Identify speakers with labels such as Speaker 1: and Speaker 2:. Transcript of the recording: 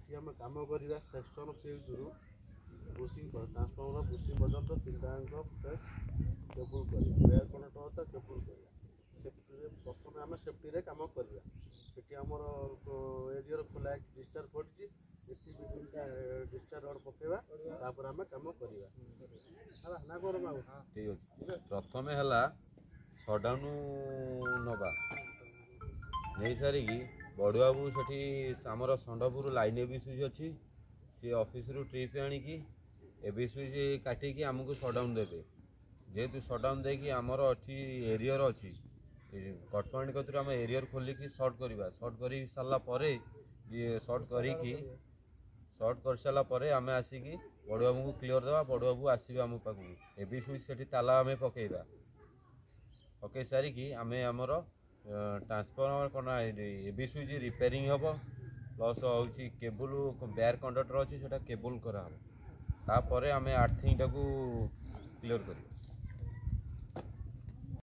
Speaker 1: ଏଠି ଆମେ କାମ କରିବା ସେକ୍ସନ୍ ଫ୍ୟୁଜ୍ରୁ ବୁସିଂ, ଟ୍ରାନ୍ସଫର୍ମର ବୁସିଂ ପର୍ଯ୍ୟନ୍ତ ତିନିଟାଙ୍କ ଫେଜ୍ କେବୁଲ୍ କରିବା। ବେୟାର କଣ୍ଡକ୍ଟର କେବୁଲ୍ କରିବା ସେଫ୍ଟିରେ। ପ୍ରଥମେ ଆମେ ସେଫ୍ଟିରେ କାମ କରିବା। ସେଠି ଆମର ଏରିଆର ଖୋଲା ହେଇକି ଡିସଚାର୍ଜ ପଡ଼ିଛି। ଏଠି ବି ତିନିଟା ଡିସଚାର୍ଜ ରଡ଼ ପକେଇବା, ତାପରେ ଆମେ କାମ କରିବା। ହେଲା ନା କଣ ବାବୁ?
Speaker 2: ଠିକ୍ ଅଛି। ପ୍ରଥମେ ହେଲା ସଟ୍ଡାଉନ୍ ନେବା। ନେଇସାରିକି ବଡ଼ୁବାବୁ ସେଠି ଆମର ଷଣ୍ଢପୁର ଲାଇନ୍ ଏ ବି ସୁଇଚ୍ ଅଛି, ସିଏ ଅଫିସରୁ ଟ୍ରିପ୍ ଆଣିକି ଏ ବି ସୁଇଚ୍ କାଟିକି ଆମକୁ ସଟ୍ଡାଉନ୍ ଦେବେ। ଯେହେତୁ ସଟ୍ଡାଉନ୍ ଦେଇକି ଆମର ଏଠି ଏରିୟର ଅଛି କଟ୍ ପଏଣ୍ଟ କତିରୁ ଆମେ ଏରିୟର ଖୋଲିକି ସର୍ଟ କରିବା। ସର୍ଟ କରି ସାରିଲା ପରେ, ସର୍ଟ କରିକି ସର୍ଟ କରିସାରିଲା ପରେ ଆମେ ଆସିକି ବଡ଼ୁବାବୁଙ୍କୁ କ୍ଲିଅର୍ ଦେବା। ବଡ଼ୁବାବୁ ଆସିବେ ଆମ ପାଖକୁ। ଏ ବି ସୁଇଚ୍ ସେଠି ତାଲା ଆମେ ପକାଇବା। ପକାଇ ସାରିକି ଆମେ ଆମର ଟ୍ରାନ୍ସଫର୍ମର କ'ଣ ଏ ବି ସୁଇଚ୍ ରିପେୟାରିଂ ହେବ, ପ୍ଲସ୍ ହେଉଛି କେବୁଲ୍ ବେୟାର କଣ୍ଡକ୍ଟର ଅଛି, ସେଇଟା କେବୁଲ୍ କରାହେବ। ତାପରେ ଆମେ ଆର୍ଥିଂଟାକୁ କ୍ଲିଅର୍ କରିବା।